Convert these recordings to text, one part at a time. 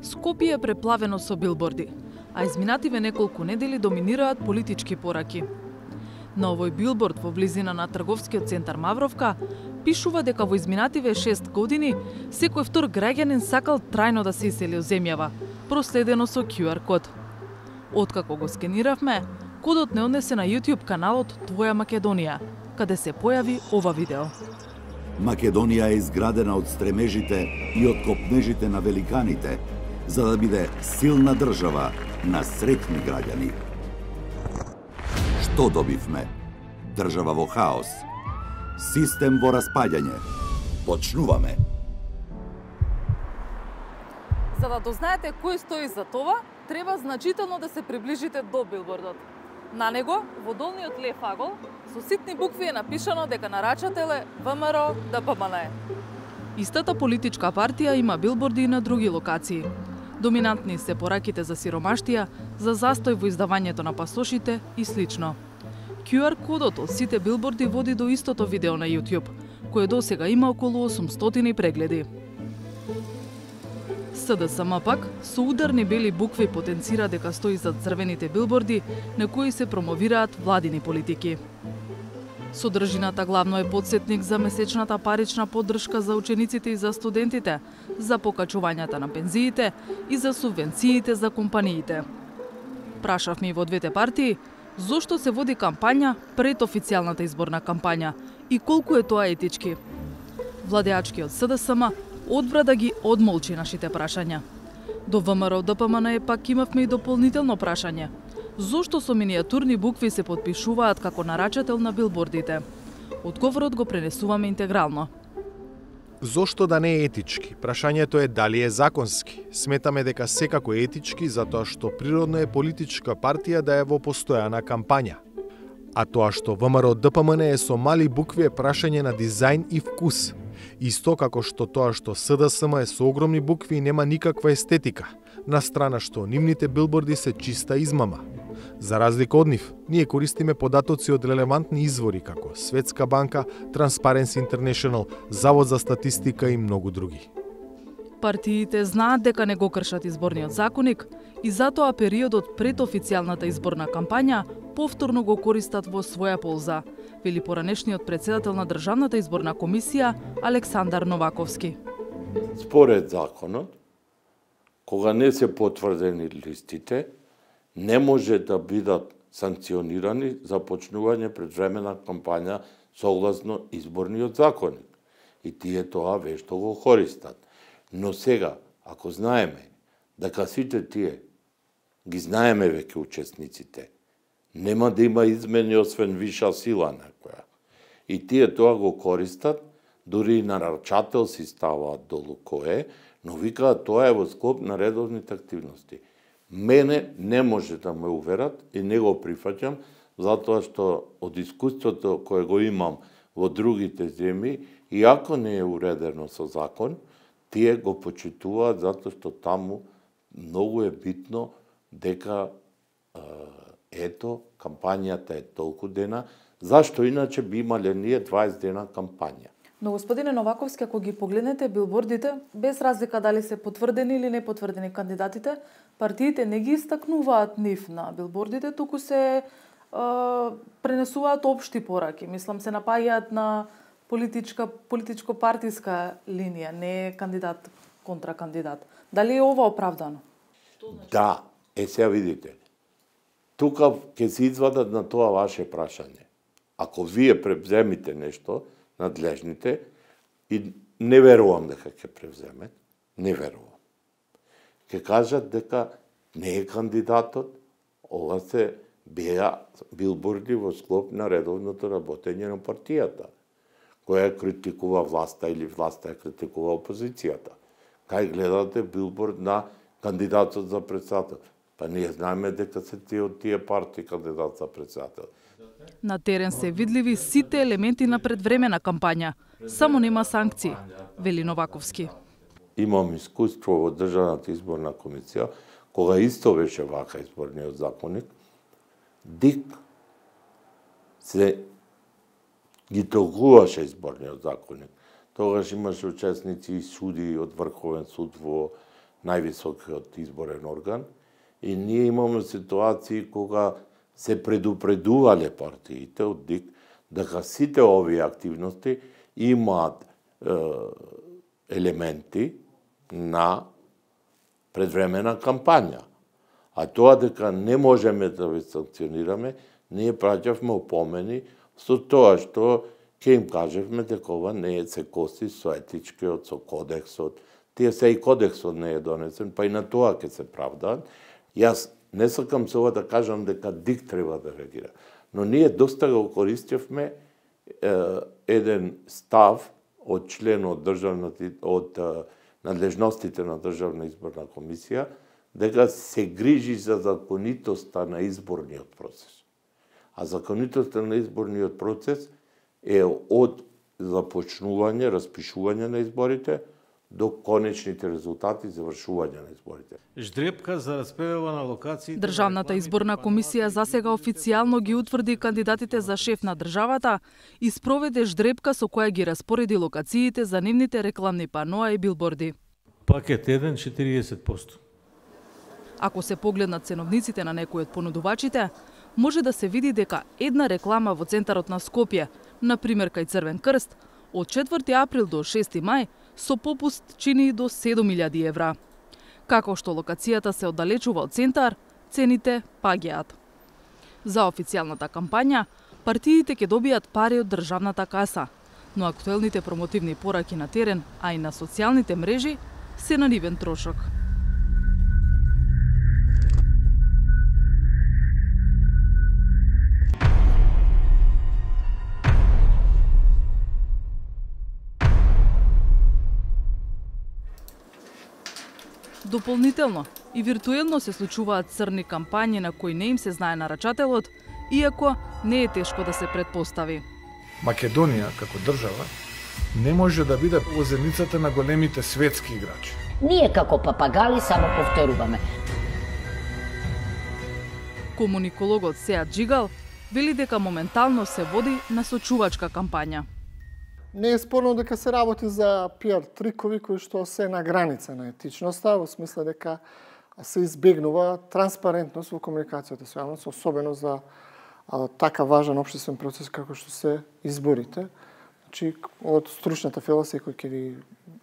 Скопје е преплавено со билборди, а изминативе неколку недели доминираат политички пораки. На овој билборд во близина на трговскиот центар Мавровка пишува дека во изминативе 6 години секој втор граѓанин сакал трајно да се исели од земјава, проследено со QR код. Откако го скениравме, кодот не однесе на YouTube каналот Твоја Македонија, каде се појави ова видео. Македонија е изградена од стремежите и од копнежите на великаните, за да биде силна држава на среќни граѓани. Што добивме? Држава во хаос. Систем во распаѓање. Почнуваме. За да дознаете кој стои за това, треба значително да се приближите до билбордот. На него, во долниот лев агол, со ситни букви е напишано дека нарачател е ВМРО ДПМН. Истата политичка партија има билборди и на други локации. Доминантни се пораките за сиромаштија, за застој во издавањето на пасошите и слично. QR кодот од сите билборди води до истото видео на YouTube, кое досега има околу 800 прегледи. СДСМ пак со ударни бели букви потенцира дека стои зад црвените билборди на кои се промовираат владини политики. Содржината главно е потсетник за месечната парична поддршка за учениците и за студентите, за покачувањата на пензиите и за субвенциите за компаниите. Прашавме и во двете партии зошто се води кампања пред официјалната изборна кампања и колку е тоа етички. Владеачкиот СДСМ одбра да ги одмолчи нашите прашања. До ВМРО ДПМН пак имавме и дополнително прашање. Зошто со минијатурни букви се подпишуваат како нарачател на билбордите? Одговорот го пренесуваме интегрално. Зошто да не е етички? Прашањето е дали е законски. Сметаме дека секако е етички затоа што природно е политичка партија да е во постојана кампања. А тоа што ВМРО ДПМН е со мали букви е прашање на дизајн и вкус. Исто како што тоа што СДСМ е со огромни букви и нема никаква естетика, на страна што нивните билборди се чиста измама. За разлика од нив, ние користиме податоци од релевантни извори како Светска банка, Transparency International, Завод за статистика и многу други. Партиите знаат дека не го кршат изборниот законник и затоа периодот пред официјалната изборна кампања повторно го користат во своја полза, вели поранешниот председател на Државната изборна комисија Александар Новаковски. Според законот, кога не се потврдени листите, не може да бидат санкционирани за почнување предвремена кампања согласно изборниот законник. И тие тоа вешто го користат. Но сега, ако знаеме дека сите тие ги знаеме веќе учесниците, нема да има измени освен виша сила некоја. И тие тоа го користат, дури и нарачател си ставаат долу кој е, но викаат тоа е во склоп на редовните активности. Мене не може да ме уверат и не го прифаќам, затоа што од искуството кое го имам во другите земји, иако не е уредено со закон, тие го почитуваат затоа што таму многу е битно дека ето, кампањата е толку дена, зашто иначе би имале ние 20 дена кампања. Но господине Новаковски, ако ги погледнете билбордите, без разлика дали се потврдени или не потврдени кандидатите, партиите не ги истакнуваат нив на билбордите, туку се пренесуваат општи пораки. Мислам, се напаѓаат на политичко-партиска линија, не е кандидат контра кандидат. Дали е ова оправдано? Да, сега видите. Тука ќе се извадат на тоа ваше прашање. Ако вие превземите нешто, надлежните, и не верувам дека ќе превземет, не верувам. Ќе кажат дека не е кандидатот, ова се беа билборди во склоп на редовното работење на партијата, која критикува власта или власта критикува опозицијата. Кај гледате билборд на кандидатот за председател? Па ние знаеме дека се тие од тие партии кандидат за председател. На терен се видливи сите елементи на предвремена кампања, само нема санкции, вели Новаковски. Имам искуство во Државната изборна комисија, кога исто беше вака изборниот законник, ДИК се ги толкуваше изборниот законник. Тогаш имаше учесници и суди од Врховен суд во највисокиот изборен орган, и ние имаме ситуации кога се предупредувале партиите од ДИК дека сите овие активности имаат елементи на предвремена кампања. А тоа дека не можеме да ви санкционираме, ние праќавме опомени со тоа што ќе им кажевме дека ова не се коси со етичкиот, со кодексот. Тие се и кодексот не е донесен, па и на тоа ќе се правдаат. Јас не сакам се ова да кажам дека ДИК треба да реагира, но ние доста го користевме еден став од член од надлежностите на Државна изборна комисија, дека се грижи за законитоста на изборниот процес. А законитоста на изборниот процес е од започнување, распишување на изборите до конечните резултати и завршување на изборите. Ждрепка за распределба на локации. Државната изборна комисија засега официјално ги утврди кандидатите за шеф на државата и спроведе ждрепка со која ги распореди локациите за нивните рекламни паноа и билборди. Пакет 1 40%. Ако се погледнат ценовниците на некои од понудувачите, може да се види дека една реклама во центарот на Скопје, на пример кај Црвен крст, од 4 април до 6 мај со попуст чини до 7.000 евра. Како што локацијата се оддалечува од центар, цените паѓаат. За официјалната кампања, партиите ќе добијат пари од државната каса, но актуелните промотивни пораки на терен, а и на социјалните мрежи, се на нивен трошок. Дополнително, и виртуелно се случуваат црни кампањи на кои не им се знае нарачателот, иако не е тешко да се предпостави. Македонија, како држава, не може да биде во зеницата на големите светски играчи. Ние како папагали само повторуваме. Комуникологот Сеат Джигал вели дека моментално се води насочувачка кампања. Не е спорно дека се работи за пиар трикови кои што се на граница на етичноста, во смисла дека се избегнува транспарентност во комуникацијата со јавност, особено за така важен општествен процес како што се изборите. Значи, од стручната философија кој ќе ви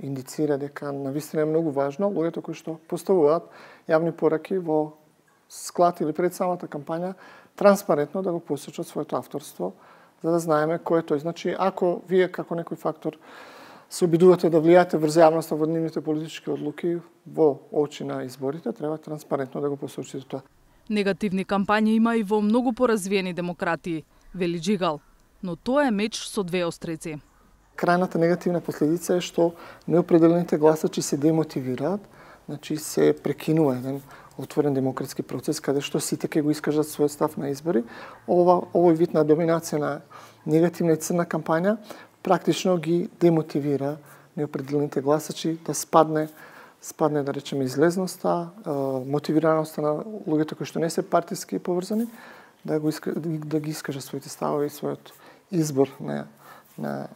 индицира дека навистина е многу важно, луѓето кои што поставуваат јавни пораки во склад или пред самата кампања, транспарентно да го посочат своето авторство, за да знаеме кој е тој. Значи, ако вие како некој фактор се обидувате да влијаете врз јавноста во нивните политички одлуки во очи на изборите, треба транспарентно да го посочите тоа. Негативни кампањи има и во многу поразвиени демократии, вели Джигал, но тоа е меч со две острици. Крајната негативна последица е што неопределените гласачи се демотивираат, значи се прекинува еден отворен демократски процес каде што сите ќе го искажат својот став на избори. Овој вид на доминација на негативна и црна кампања практично ги демотивира неопределените гласачи да спадне да речеме излезноста, мотивираноста на луѓето кои што не се партиски поврзани, да ги искажат своите ставови и својот избор на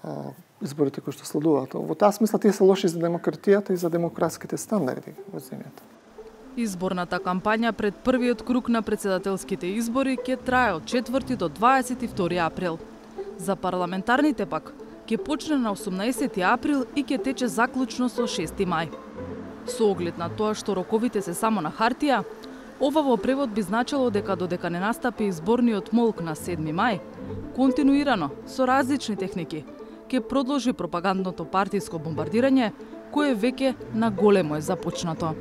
изборите кои што следуваат. Во таа смисла тие се лоши за демократијата и за демократските стандарди во земјата. Изборната кампања пред првиот круг на председателските избори ќе трае од 4 до 22 април. За парламентарните пак ќе почне на 18 април и ќе тече заклучно со 6 мај. Со оглед на тоа што роковите се само на хартија, ова во превод би значило дека додека не настапи изборниот молк на 7 мај, континуирано, со различни техники, ќе продолжи пропагандното партиско бомбардирање, кое веќе на големо е започнато.